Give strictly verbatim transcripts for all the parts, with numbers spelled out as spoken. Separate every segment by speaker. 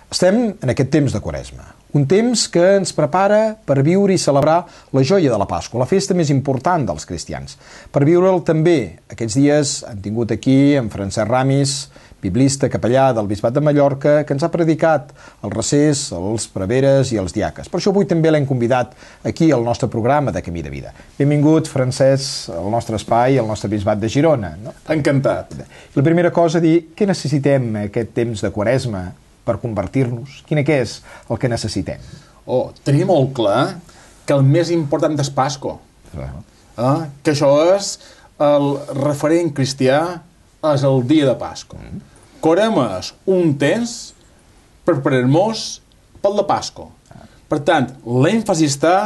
Speaker 1: Estem en aquest temps de Quaresma, un temps que ens prepara per viure i celebrar la joia de la Pasqua, la festa més important dels cristians. Per viure'l també, aquests dies hem tingut aquí en Francesc Ramis, biblista, capellà del Bisbat de Mallorca, que ens ha predicat el recés, els preveres i els diaques. Per això avui també l'hem convidat aquí al nostre programa de Camí de Vida. Benvingut, Francesc, al nostre espai, al nostre Bisbat de Girona. No?
Speaker 2: Encantat.
Speaker 1: La primera cosa, dir, què necessitem aquest temps de Quaresma per convertir-nos? Quin és el que necessitem?
Speaker 2: Oh, tenim molt clar que el més important és Pasqua.
Speaker 1: Uh-huh.
Speaker 2: Eh? Que això és el referent cristià, és el dia de Pasqua. Uh-huh. Quaresma és un temps per preparar-nos per la Pasqua. Uh-huh. Per tant, l'èmfasi està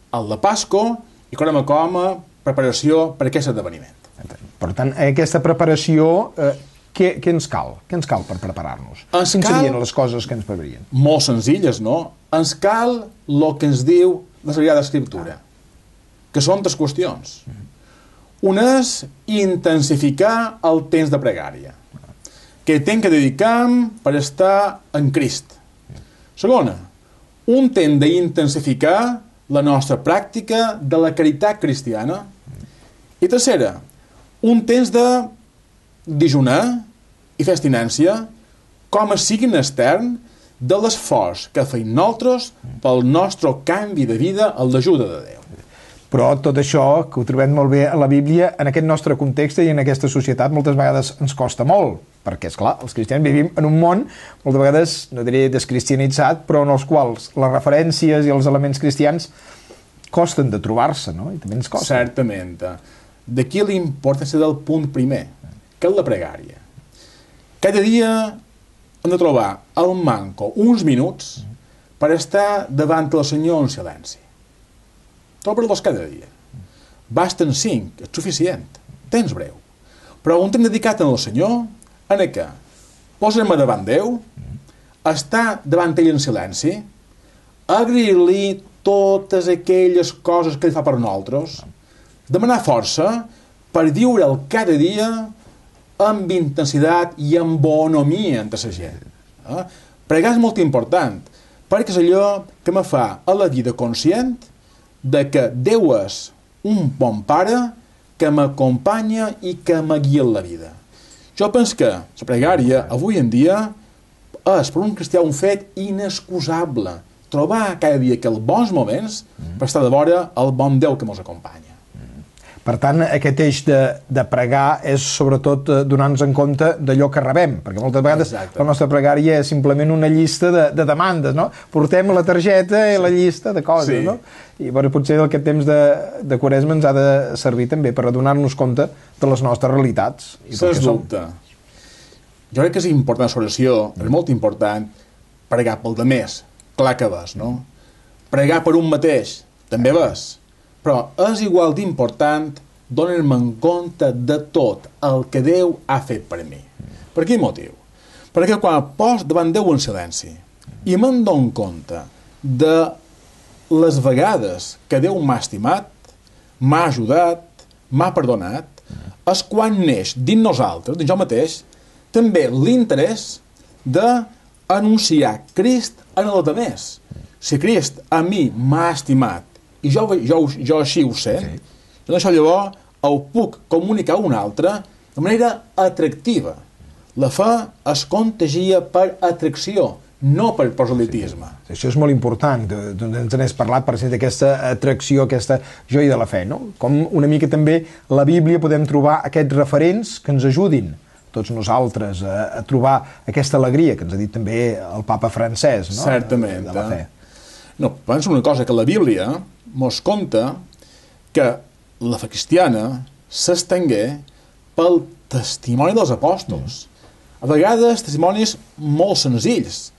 Speaker 2: al de Pasqua i Quaresma com a preparació per a aquest esdeveniment.
Speaker 1: Per tant, aquesta preparació... Eh, Què, què ens cal? Què ens cal per preparar-nos? Quines serien les coses que ens prepararien?
Speaker 2: Molt senzilles, no? Ens cal el que ens diu la Sagrada Escriptura, que són tres qüestions. Una és intensificar el temps de pregària, que hem de dedicar per estar en Crist. Segona, un temps d'intensificar la nostra pràctica de la caritat cristiana. I tercera, un temps de dijunar i fer abstinència com a signe extern de l'esforç que feim nosaltres pel nostre canvi de vida amb l'ajuda de Déu.
Speaker 1: Però tot això, que ho trobem molt bé a la Bíblia, en aquest nostre context i en aquesta societat moltes vegades ens costa molt, perquè, esclar, els cristians vivim en un món, moltes vegades, no diré descristianitzat, però en els quals les referències i els elements cristians costen de trobar-se, no? I també ens costa.
Speaker 2: Certament. D'aquí l'importància del punt primer, que és la pregària. Cada dia hem de trobar al manco uns minuts per estar davant del Senyor en silenci. Trobar-los cada dia. Basten cinc, és suficient. Temps breu. Però un temps dedicat al Senyor, en què? Posar-me davant Déu, estar davant ell en silenci, agrair-li totes aquelles coses que ell fa per nosaltres, demanar força per viure'l cada dia amb intensitat i amb bonomia entre la gent. Eh? Pregar és molt important, perquè és allò que me fa a la vida conscient de que Déu és un bon pare que m'acompanya i que me guia en la vida. Jo penso que la pregària, avui en dia, és per un cristià un fet inexcusable. Trobar cada dia aquells bons moments per estar de vora el bon Déu que ens acompanya.
Speaker 1: Per tant, aquest eix de, de pregar és sobretot eh, donar-nos en compte d'allò que rebem, perquè moltes vegades Exacte. La nostra pregària és simplement una llista de, de demandes, no? Portem la targeta i sí. la llista de coses, sí. no? I bueno, potser aquest temps de, de Quaresma ens ha de servir també per adonar-nos compte de les nostres realitats.
Speaker 2: Sens dubte. Jo crec que és important l'oració, és molt important pregar pel demés, clar que ves, no? Pregar per un mateix, també ves. Però és igual d'important donar-me en compte de tot el que Déu ha fet per mi. Per quin motiu? Perquè quan pos davant Déu en silenci i me'n dono compte de les vegades que Déu m'ha estimat, m'ha ajudat, m'ha perdonat, és quan neix dins nosaltres, dins jo mateix, també l'interès d'anunciar Crist en els altres. Si Crist a mi m'ha estimat i jo, jo, jo així ho sé, sí. doncs això llavors ho puc comunicar a un altre de manera atractiva. La fe es contagia per atracció, no per proselitisme.
Speaker 1: Sí. Això és molt important, ens n'has parlat, per exemple, d'aquesta atracció, aquesta joia de la fe, no? Com una mica també la Bíblia podem trobar aquests referents que ens ajudin tots nosaltres a, a trobar aquesta alegria que ens ha dit també el papa Francesc, no?
Speaker 2: Certament.
Speaker 1: De, de la fe.
Speaker 2: No, penso una cosa, que la Bíblia mos conta que la fe cristiana s'estengué pel testimoni dels apòstols. A vegades testimonis molt senzills,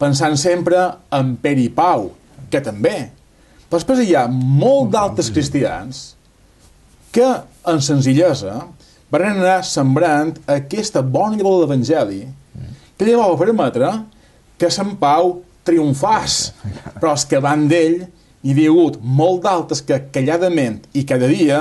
Speaker 2: pensant sempre en Pere i Pau, que també. Però després hi ha molt d'altres cristians que, en senzillesa, van anar sembrant aquesta bona llavor de l'Evangeli, que llavors va permetre que Sant Pau triomfàs, però els que van d'ell hi havia hagut molt d'altres que calladament i cada dia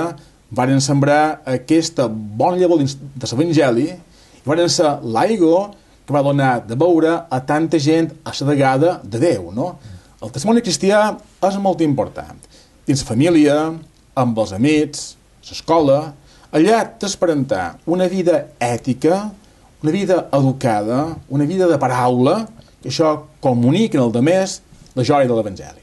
Speaker 2: van sembrar aquesta bona llavor de l'Evangeli i van ser l'aigua que va donar de veure a tanta gent assedegada de Déu, no? El testimoni cristià és molt important. Dins la família, amb els amics, l'escola, allà t'esperantar una vida ètica, una vida educada, una vida de paraula, que això comuniquen el demés la joia de l'Evangeli.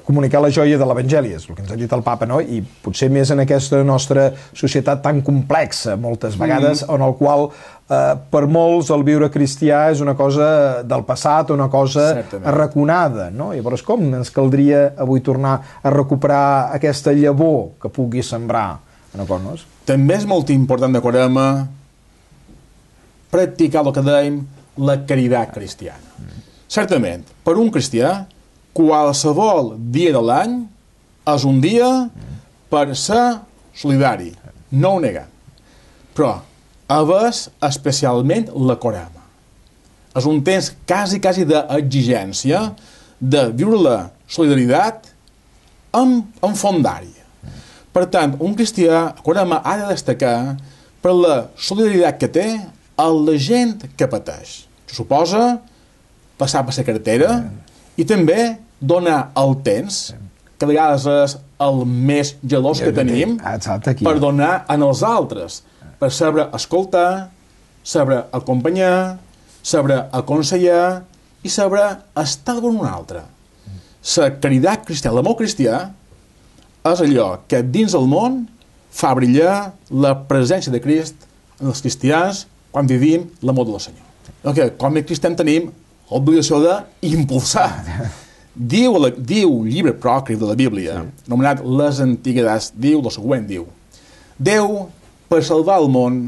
Speaker 1: Comunicar la joia de l'Evangeli, és el que ens ha dit el papa, no? I potser més en aquesta nostra societat tan complexa, moltes vegades, mm. en el qual eh, per molts el viure cristià és una cosa del passat, una cosa Certament. arraconada, no? Llavors, com ens caldria avui tornar a recuperar aquesta llavor que pugui sembrar en coses?
Speaker 2: També és molt important de Quaresma practicar el que dèiem la caritat cristiana. Mm. Certament, per un cristià, qualsevol dia de l'any és un dia per ser solidari, no ho negant. Però és especialment la Quaresma. És un temps quasi, quasi d'exigència de viure la solidaritat en, en fondària. Per tant, un cristià a Quaresma ha de destacar per la solidaritat que té a la gent que pateix. Això suposa passar per la carretera i també donar el temps, que a vegades és el més gelós que tenim, per donar en els altres, per saber escoltar, saber acompanyar, saber aconsellar i saber estar amb un altre. La caritat cristiana, l'amor cristià, és allò que dins el món fa brillar la presència de Crist en els cristians quan vivim l'amor del Senyor. Okay, com a cristians tenim l'obligació d'impulsar. Diu, diu el llibre pròcrif de la Bíblia, sí. anomenat Les Antiguitats, diu el següent, diu Déu, per salvar el món,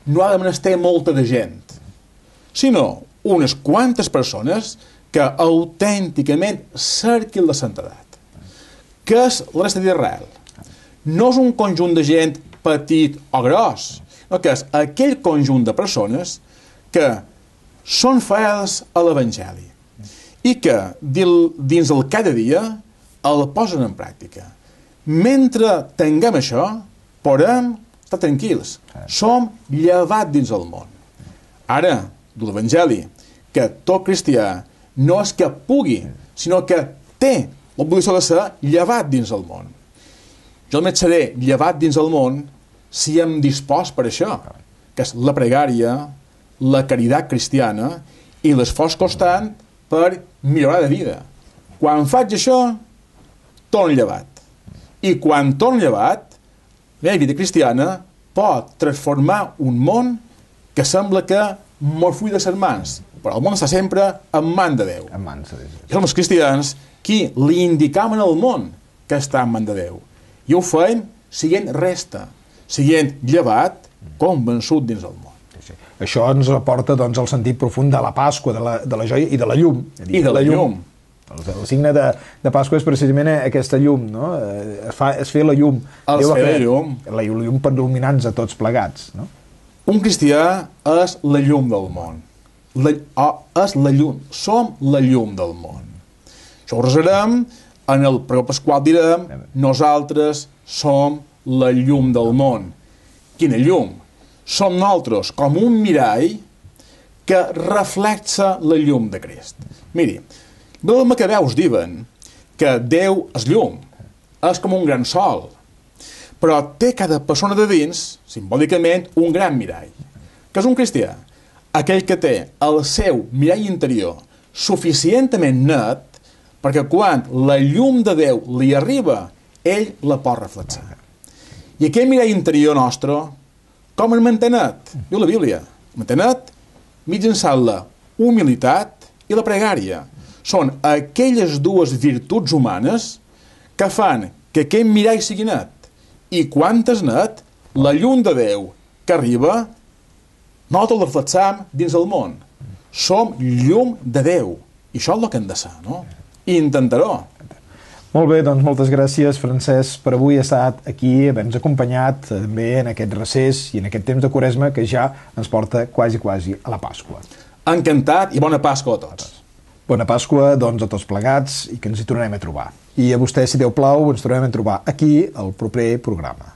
Speaker 2: no ha de menester molta de gent, sinó unes quantes persones que autènticament cerquin la santedat. Què és la resta d'Israel? No és un conjunt de gent petit o gros, no, que és aquell conjunt de persones que són fidels a l'Evangeli i que dins el cada dia el posen en pràctica. Mentre tinguem això, podem estar tranquils. Som llevats dins el món. Ara, de l'Evangeli, que tot cristià no és que pugui, sinó que té l'obligació de ser llevat dins el món. Jo només seré llevat dins el món si em dispost per això, que és la pregària, la caritat cristiana i l'esforç constant per millorar de vida. Quan faig això, torno llevat. I quan torno llevat, la meva vida cristiana pot transformar un món que sembla que mos full de ses mans, però el món està sempre en mans de Déu.
Speaker 1: En mans de Déu.
Speaker 2: I som els cristians qui li indicam al món que està en mans de Déu. I ho fem siguent resta, siguent llevat, convençut dins el món.
Speaker 1: Això ens aporta doncs, el sentit profund de la Pasqua, de la, de la joia i de la llum.
Speaker 2: I de la llum.
Speaker 1: El, el signe de, de Pasqua és precisament aquesta llum, no? Es, fa, es fer la llum.
Speaker 2: El
Speaker 1: Déu
Speaker 2: fer
Speaker 1: la
Speaker 2: llum.
Speaker 1: La llum per il·luminar-nos a tots plegats, no?
Speaker 2: Un cristià és la llum del món. La, oh, és la llum. Som la llum del món. Això ho resarem, en el pregó pasqual direm, nosaltres som la llum del món. Quina llum? Som nosaltres com un mirall que reflexa la llum de Crist. Miri, els macabeus diuen que Déu és llum, és com un gran sol, però té cada persona de dins, simbòlicament, un gran mirall, que és un cristià, aquell que té el seu mirall interior suficientment net perquè quan la llum de Déu li arriba, ell la pot reflexar. I aquell mirall interior nostre, com el mantenet? Diu la Bíblia. El mantenet mitjançant la humilitat i la pregària. Són aquelles dues virtuts humanes que fan que aquest mirall sigui net. I quan és net, la llum de Déu que arriba, nosaltres la reflexam dins el món. Som llum de Déu. I això és el que hem de ser, no? I intentaró.
Speaker 1: Molt bé, doncs moltes gràcies, Francesc, per avui estar aquí, haver-nos acompanyat també en aquest recés i en aquest temps de Quaresma que ja ens porta quasi, quasi a la Pasqua.
Speaker 2: Encantat i bona Pasqua a tots.
Speaker 1: Bona Pasqua, doncs, a tots plegats i que ens hi tornarem a trobar. I a vostè, si Déu plau, ens tornarem a trobar aquí al proper programa.